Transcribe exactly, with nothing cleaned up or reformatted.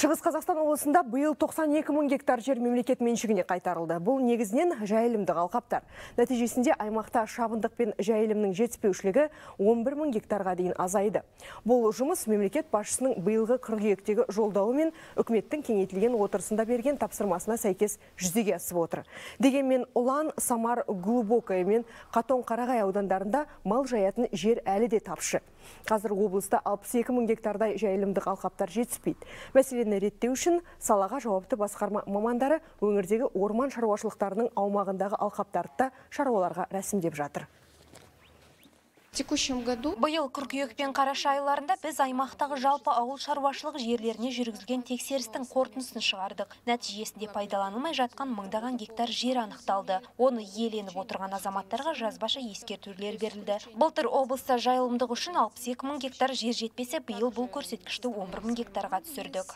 Шығыс Қазақстан облысында биыл тоқсан екі мың гектар жер мемлекет меншігіне қайтарылды. Бұл негізінен жайылымдық алқаптар. Нәтижесінде аймақта шабындық пен жайылымның жетіспеушілігі он бір мың гектарға дейін азайды. Бұл жұмыс мемлекет басшысының биылғы қыркүйектегі жолдауы мен үкіметтің кеңейтілген отырысында берген тапсырмасына сәйкес жүзеге асып отыр. Дегенмен Ұлан, Самар, Глубокое мен Қатон-Қарағай аудандарында мал жаятын жер әлі де тапшы. Қазір облыста алпыс екі мың гектардай жайылымдық алқаптар жетіспейді. Мәселені реттеу үшін салаға жауапты басқарма мамандары өңірдегі орман шаруашылықтарының аумағындағы алқаптарды шаруаларға рәсімдеп жатыр. Биыл қыркүйек пен қараша айларында біз аймақтағы жалпы ауыл шаруашылық жерлеріне жүргізілген тексерістің қорытындысын шығардық. Нәтижесінде пайдаланылмай жатқан мыңдаған гектар жер анықталды. Оны иеленіп отырған азаматтарға жазбаша ескертулер берілді. Былтыр облыста жайылымдық үшін алпыс екі мың гектар жер жетпесе, биыл бұл көрсеткішті он бір мың гектарға түсірдік.